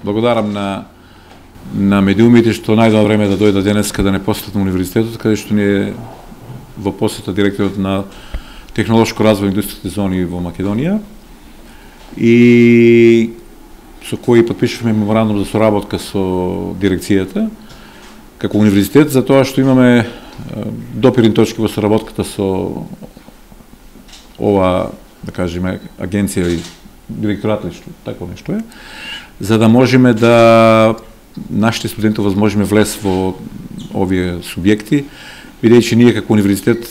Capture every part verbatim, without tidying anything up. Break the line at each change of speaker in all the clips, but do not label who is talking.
благодарам на на медиумите што најдоа време да дојдат денеска да не посетат на универзитетот, каде што ни е во посета директорот на технолошко развој индустријските зони во Македонија и со кој потпишавме меморандум за соработка со дирекцијата како универзитет за тоа што имаме допирни точки во соработката со ова, да кажеме, агенција или директорат или што, тако нешто е, за да можеме да нашите студенти возможиме влез во овие субјекти, бидејќи ние како универзитет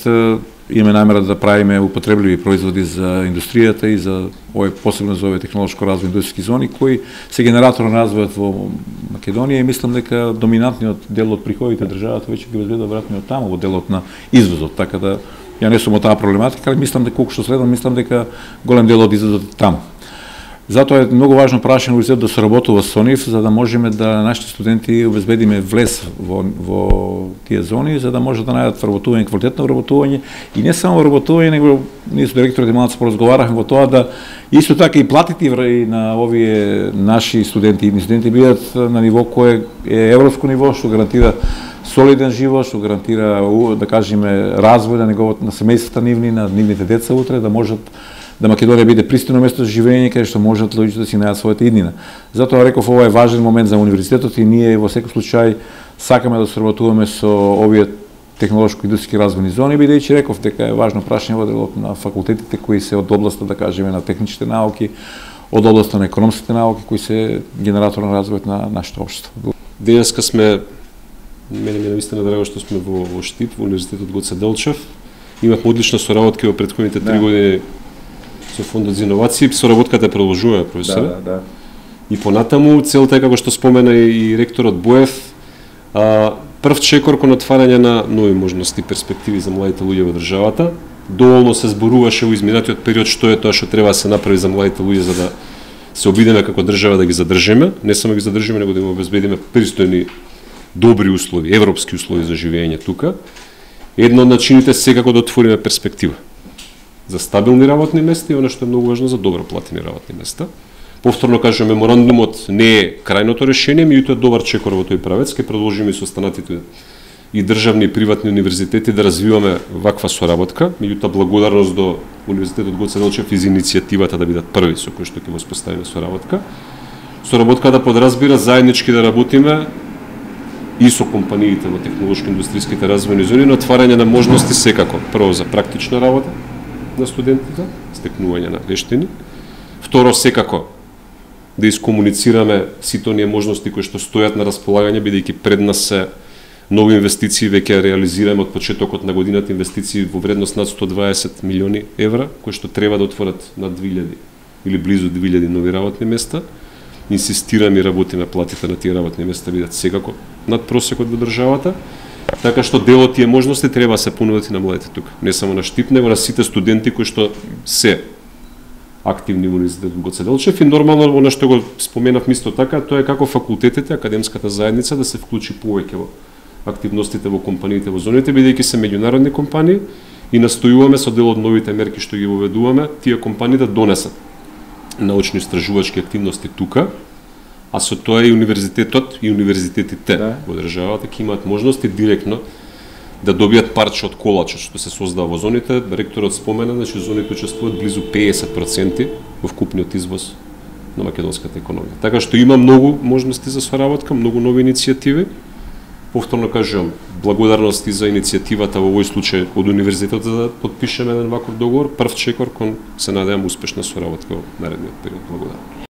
имаме намера да правиме употребливи производи за индустријата и за овој посебно за овие технолошко развој индустријски зони кои се генератор на развојот во Македонија и мислам дека доминантниот дел од приходите државата веќе ги обезбедува веројатно од таму во делот на извозот, така да ја не сум од таа проблематика, али мислам дека колку што следам, мислам дека голем дел од извозот е таму. Затоа е многу важно прашање универзитетот да соработува со нив за да можеме да нашите студенти обезбедиме влез во во тие зони за да може да најдат вработување, квалитетно вработување и не само вработување, него ние со директорот малку поразговаравме во тоа да исто така и платите на овие наши студенти и студенти бидат на ниво кое е европско ниво што гарантира солиден живот, што гарантира да кажеме развој на неговото на семејствата нивни, на нивните деца утре да можат да Македонија биде пристойно место за живење каде што можат луѓето да си најдат својата иднина. Затоа реков ова е важен момент за универзитетот и ние во секој случај сакаме да соработуваме со овие технолошко-индустријски развојни зони, бидејќи реков дека е важно прашање во делот на факултетите кои се од областа, да кажеме, на техничките науки, од областа на економските науки кои се генератор на развојот на нашето општество.
Денеска сме мене ми е навистина драго што сме во, во Штип, во Универзитетот Гоце Делчев. Имавме одлична соработка во претходните три да. години со Фондот за иновации, соработката продолжува, професор.
Да, да, да.
И понатаму целта е како што спомена и ректорот Боев, а, прв чекор кон отварање на нови можности и перспективи за младите луѓе во државата. Доволно се зборуваше во изминатиот период што е тоа што треба да се направи за младите луѓе за да се обидеме како држава да ги задржиме, не само ги задржиме, него да им обезбедиме пристојни добри услови, европски услови за живење тука. Едно од начините секако да отвориме перспектива за стабилни работни места и оно што е многу важно за добро платени работни места. Повторно кажам, меморандумот не е крајното решение, меѓутоа е добар чекор во тој правец, ќе продолжиме со останатите и државни и приватни универзитети да развиваме ваква соработка, меѓутоа благодарност до Универзитетот Гоце Делчев и за иницијативата да бидат први со кои што ќе воспоставиме соработка. Соработка да подразбира заеднички да работиме и со компаниите во технолошко-индустријските развојни зони на отварање на можности секако. Прво за практична работа на студентите, стекнување на вештини. Второ, секако да искомуницираме сите оние можности кои што стојат на располагање, бидејќи пред нас се нови инвестиции, веќе реализираме од почетокот на годината инвестиции во вредност над сто дваесет милиони евра, кои што треба да отворат над две илјади или близу две илјади нови работни места. Инсистираме и работиме платите на тие работни места бидат секако над просекот во државата. Така што дел од тие можности треба да се понудат и на младите тука. Не само на Штип, него на сите студенти кои што се активни во Универзитетот Гоце Делчев и нормално она што го споменав исто така, тоа е како факултетите, академската заедница да се вклучи повеќе во активностите во компаниите во зоните, бидејќи се меѓународни компании и настојуваме со дел од новите мерки што ги воведуваме, тие компании да донесат научно-истражувачки активности тука, а со тоа и универзитетот и универзитетите да. во државата ќе имаат можности директно да добијат парче од колачот што се создава во зоните. Ректорот спомена, значи зоните учествуваат близу педесет проценти во вкупниот извоз на македонската економија. Така што има многу можности за соработка, многу нови иницијативи. Повторно кажувам, благодарности за иницијативата во овој случај од универзитетот за да подпишеме еден ваков договор, прв чекор кон се надевам успешна соработка во наредниот период. Благодарам.